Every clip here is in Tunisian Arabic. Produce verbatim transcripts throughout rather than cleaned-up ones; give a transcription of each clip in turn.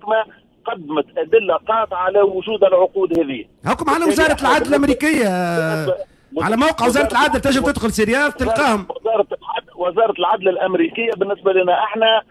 المحكمة قدمت ادلة قاطعه على وجود العقود هذه. حكم على وزارة العدل الامريكية، على موقع وزارة العدل تنجم تدخل سي رياض تلقاهم. وزارة العدل وزارة العدل الامريكية بالنسبة لنا احنا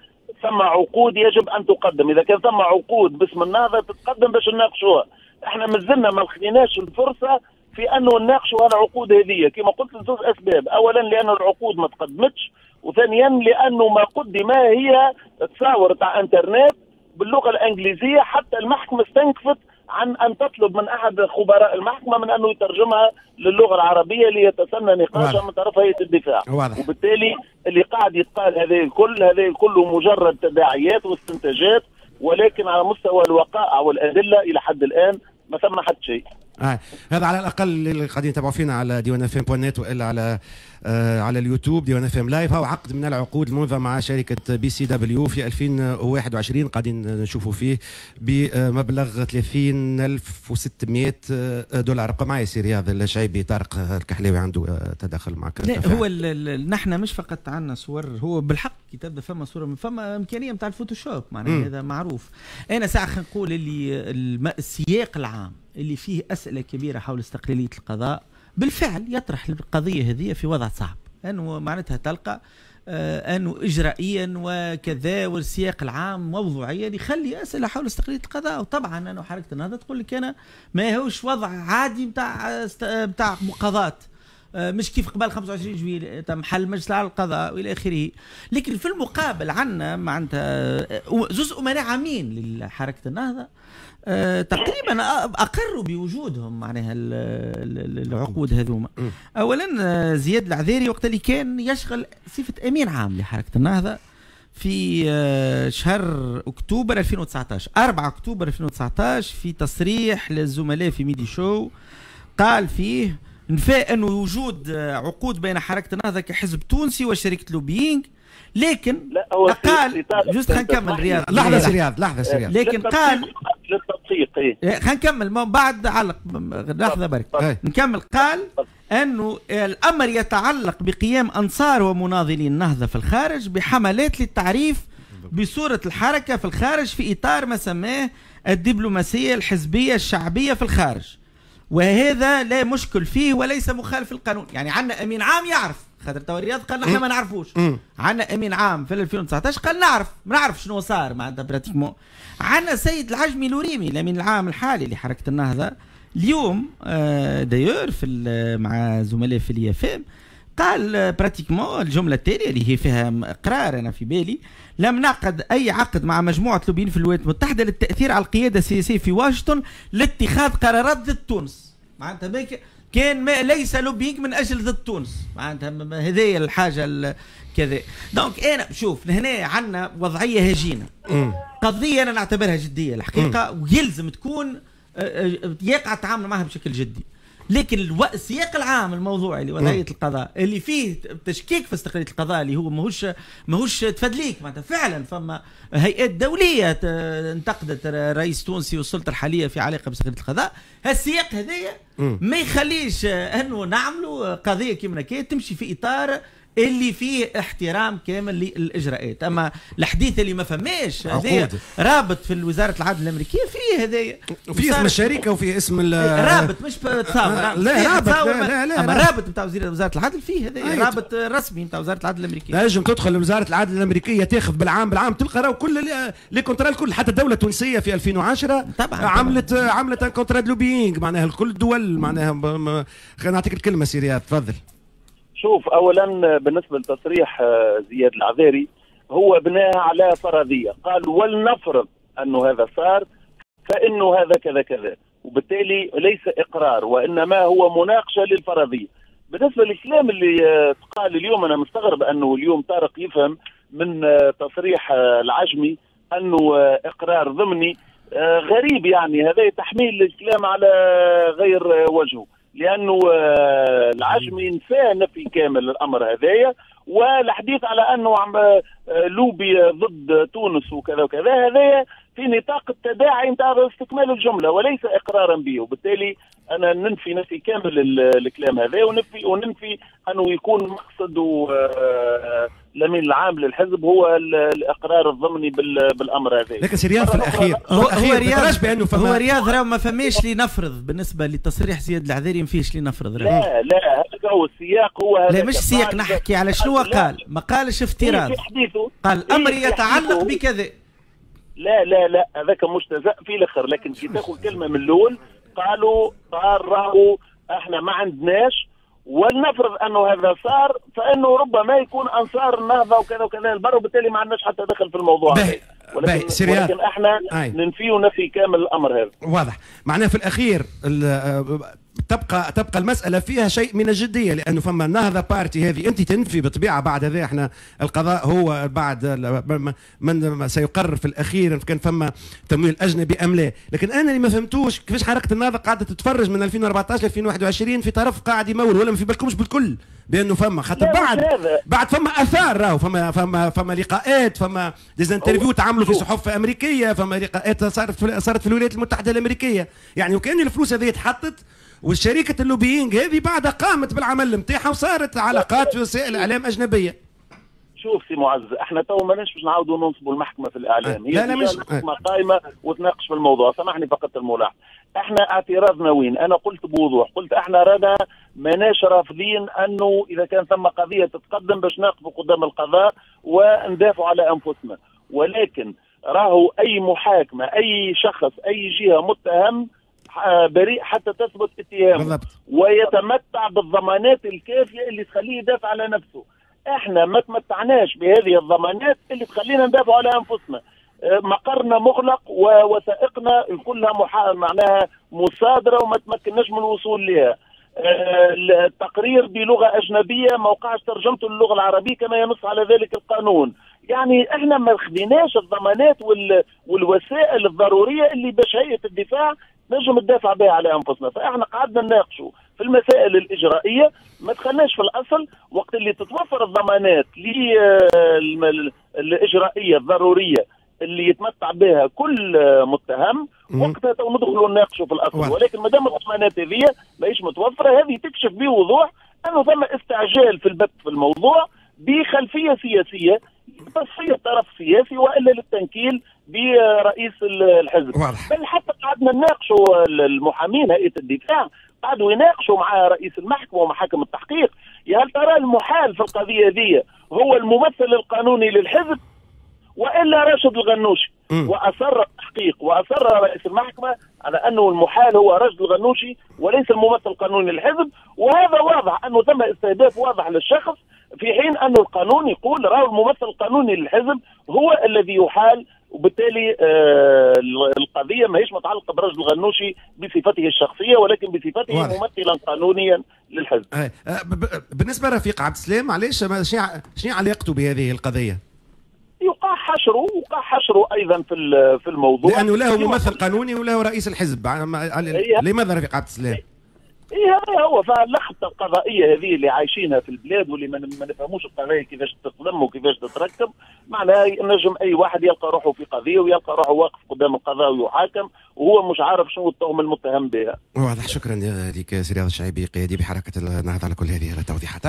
ثم عقود يجب ان تقدم، اذا كان ثم عقود باسم النهضة تتقدم باش نناقشوها. احنا مازلنا ما لقيناش الفرصة في انه نناقشوا العقود هذه، كما قلت لزوج اسباب، اولا لان العقود ما تقدمتش، وثانيا لانه ما قدم هي تصاور تاع انترنت باللغة الانجليزية، حتى المحكمة استنكفت عن ان تطلب من احد خبراء المحكمة من انه يترجمها للغة العربية ليتسنى نقاشها من طرف هيئة الدفاع. واضح. وبالتالي اللي قاعد يتقال هذا الكل هذا الكل مجرد تداعيات واستنتاجات، ولكن على مستوى الوقائع والادلة الى حد الان ما ثم حد شيء. آه. هذا على الاقل اللي قاعدين يتابعوا فينا على ديوان اف ام point net والا على آه على اليوتيوب ديوان اف ام live. هو عقد من العقود الممضى مع شركة BCW في ألفين وواحد وعشرين قاعدين نشوفوا فيه بمبلغ ثلاثين ألف وستمائة دولار. بقى معي سي رياض الشعيبي، طارق الكحلاوي عنده تدخل معك. لا هو نحن مش فقط عندنا صور، هو بالحق كي تبدا فما صوره فما امكانية نتاع الفوتوشوب معناها هذا معروف. انا ساعة خلينا نقول اللي السياق العام اللي فيه أسئلة كبيرة حول استقلالية القضاء بالفعل يطرح القضية هذه في وضع صعب، أنه معناتها تلقى آه أنه إجرائيا وكذا والسياق العام موضوعيا يخلي أسئلة حول استقلالية القضاء. وطبعا أنه حركة النهضة تقول لك أنا ما هوش وضع عادي نتاع نتاع مقاضاة، مش كيف قبل خمسة وعشرين جويلية تم حل مجلس على القضاء والى اخره. لكن في المقابل عندنا معناتها زوز امناء عامين لحركة النهضة أه تقريبا اقروا بوجودهم معناها العقود هذوما. اولا زياد العذاري وقت اللي كان يشغل صفة امين عام لحركة النهضة في شهر اكتوبر ألفين وتسعطاش، أربعة أكتوبر ألفين وتسعطاش، في تصريح للزملاء في ميدي شو قال فيه نفى أنه وجود عقود بين حركة النهضة كحزب تونسي وشركة lobbying، لكن لا هو قال juste خلينا نكمل رياض، لحظة سي رياض، لحظة سي رياض، لكن قال للتدقيق خلينا نكمل ما بعد علق لحظة برك نكمل. قال أنه الأمر يتعلق بقيام أنصار ومناضلي النهضة في الخارج بحملات للتعريف بصورة الحركة في الخارج في إطار ما سماه الدبلوماسية الحزبية الشعبية في الخارج، وهذا لا مشكل فيه وليس مخالف للقانون. يعني عندنا امين عام يعرف، خاطر تو الرياض قال نحن ما نعرفوش، عندنا امين عام في ألفين وتسعطاش قال نعرف، ما نعرف شنو صار معناتها pratiquement. عندنا سيد العجمي الوريمي الامين العام الحالي لحركة النهضة اليوم آه d'ailleurs في مع زملائه في اليافام قال pratiquement الجملة التالية اللي هي فيها اقرار انا في بالي: لم نعقد اي عقد مع مجموعة لوبيين في الولايات المتحدة للتاثير على القيادة السياسية في واشنطن لاتخاذ قرارات ضد تونس. معناتها كان ما ليس lobbying من اجل ضد تونس، معناتها هذه الحاجة كذا. donc انا شوف هنا عندنا وضعية هجينه، قضية انا نعتبرها جدية الحقيقة، ويلزم تكون يقع التعامل معها بشكل جدي. لكن السياق العام الموضوعي لوضعيه القضاء اللي فيه تشكيك في استقلالية القضاء اللي هو ماهوش ماهوش تفدليك، معناتها فعلا فما هيئات دولية انتقدت الرئيس التونسي والسلطة الحالية في علاقة باستقلاليه القضاء. هالسياق هذايا ما يخليش انه نعملوا قضية كيما هكا تمشي في اطار اللي فيه احترام كامل للاجراءات. اما الحديث اللي ما فماش هذايا رابط في وزارة العدل الامريكية فيه هذايا، وفيه اسم الشركة وفيه اسم رابط مش تصاور، لا رابط لا لا لا، اما رابط نتاع وزارة العدل فيه هذايا رابط رسمي نتاع وزارة العدل الامريكية. تنجم تدخل لوزارة العدل الامريكية تاخذ بالعام بالعام تلقى راهو كل les contrats الكل، حتى الدولة التونسية في ألفين وعشرة طبعا عملت طبعا. عملت un contrat lobbying معناها لكل الدول معناها. خلينا نعطيك الكلمة سي رياض تفضل. شوف اولا بالنسبة لتصريح زياد العذاري هو بناها على فرضية، قال ولنفرض انه هذا صار فانه هذا كذا كذا، وبالتالي ليس اقرار وانما هو مناقشة للفرضيه. بالنسبة للكلام اللي تقال اليوم انا مستغرب انه اليوم طارق يفهم من تصريح العجمي انه اقرار ضمني، غريب يعني هذا تحميل الكلام على غير وجهه، لانه العجمي نفى نفي كامل الامر هذايا، والحديث على انه عم لوبي ضد تونس وكذا وكذا هذايا في نطاق التداعي نتاع استكمال الجملة وليس اقرارا به. وبالتالي انا ننفي نفي كامل الكلام هذا، وننفي وننفي انه يكون مقصد الامين العام للحزب هو الاقرار الضمني بالامر هذا. لكن سي رياض في الاخير هو, هو رياض بانه فما هو رياض راه ما فماش لنفرض بالنسبة لتصريح زياد العذاري، ما فيش لنفرض. لا لا، هذا هو السياق، هو هذا. لا مش السياق، نحكي على شنو قال، ما قالش افتراض، قال امر يتعلق بكذا. لا لا لا، هذاك مجتزأ في الاخر، لكن كي تاخذ كلمة من الاول قالوا قال راهو احنا ما عندناش، ولنفرض انه هذا صار فانه ربما يكون انصار النهضة وكذا وكذا البر، وبالتالي ما عندناش حتى دخل في الموضوع. ولكن, ولكن احنا ننفي ونفي كامل الامر هذا. واضح، معناه في الاخير تبقى تبقى المسألة فيها شيء من الجدية، لأنه فما النهضة بارتي هذه أنت تنفي بطبيعة بعد هذا، احنا القضاء هو بعد من سيقرر في الأخير كان فما تمويل أجنبي أم لا. لكن أنا اللي ما فهمتوش كيفاش حركة النهضة قاعدة تتفرج من ألفين وأربعطاش ل ألفين وواحد وعشرين في طرف قاعد يمول، ولا ما في بالكمش بالكل بأنه فما خاطر بعد بعد فما آثار، راهو فما فما فما لقاءات، فما des interviews تعملوا في صحف أمريكية، فما لقاءات صارت في صارت في الولايات المتحدة الأمريكية، يعني وكأن الفلوس هذه اتحطت والشركة ال lobbying هذه بعدها قامت بالعمل نتاعها وصارت علاقات في وسائل اعلام اجنبية. شوف سي معز، احنا تو ماناش باش نعاودوا ننصبوا المحكمة في الاعلام، هي لا لا مش المحكمة قائمة وتناقش في الموضوع. سامحني فقط الملاحظة، احنا اعتراضنا وين؟ انا قلت بوضوح، قلت احنا رانا ماناش رافضين انه اذا كان ثم قضية تتقدم باش نقفوا قدام القضاء وندافعوا على انفسنا، ولكن راهو اي محاكمة، اي شخص، اي جهة متهم بريء حتى تثبت اتهامه ويتمتع بالضمانات الكافيه اللي تخليه يدافع على نفسه. احنا ما تمتعناش بهذه الضمانات اللي تخلينا ندافع على انفسنا. مقرنا مغلق ووثائقنا كلها محا... معناها مصادره وما تمكناش من الوصول لها. التقرير بلغه اجنبية ما وقعش ترجمته للغة العربية كما ينص على ذلك القانون. يعني احنا ما خديناش الضمانات وال... والوسائل الضرورية اللي باش هيئة الدفاع نجم ندافع بها على انفسنا. فاحنا قعدنا نناقشوا في المسائل الاجرائيه، ما دخلناش في الاصل. وقت اللي تتوفر الضمانات للاجرائيه الضرورية اللي يتمتع بها كل متهم، وقتها ندخلوا نناقشوا في الاصل. ولكن ما دام الضمانات هذه ماهيش متوفرة، هذه تكشف بوضوح انه ثم استعجال في البت في الموضوع بخلفيه سياسية تصفية طرف سياسي والا للتنكيل برئيس الحزب. واضح. بل حتى قعدنا نناقشوا المحامين هيئة الدفاع قعدوا يناقشوا مع رئيس المحكمة ومحاكم التحقيق، يا هل ترى المحال في القضية دي هو الممثل القانوني للحزب والا راشد الغنوشي؟ م. واصر التحقيق واصر رئيس المحكمة على انه المحال هو راشد الغنوشي وليس الممثل القانوني للحزب، وهذا واضح انه ثم استهداف واضح للشخص، في حين أن القانون يقول راهو الممثل القانوني للحزب هو الذي يحال، وبالتالي آه القضية ماهيش متعلقة برجل الغنوشي بصفته الشخصية ولكن بصفته واضح. ممثلا قانونيا للحزب. آه بالنسبة لرفيق عبد السلام، علاش شنو علاقته بهذه القضية؟ يقع حشرة وقع حشرة أيضا في في الموضوع، لأنه له ممثل قانوني وله رئيس الحزب. لماذا رفيق عبد السلام؟ ايه هذا هو. فاللخبطه القضائية هذه اللي عايشينها في البلاد واللي ما نفهموش القضايا كيفاش تتلم وكيفاش تتركب، معناها نجم اي واحد يلقى روحه في قضية ويلقى روحه واقف قدام القضاء ويحاكم وهو مش عارف شنو التهمة المتهم بها. واضح. شكرا لك سي رياض الشعيبي قيادي بحركة النهضة على كل هذه التوضيحات.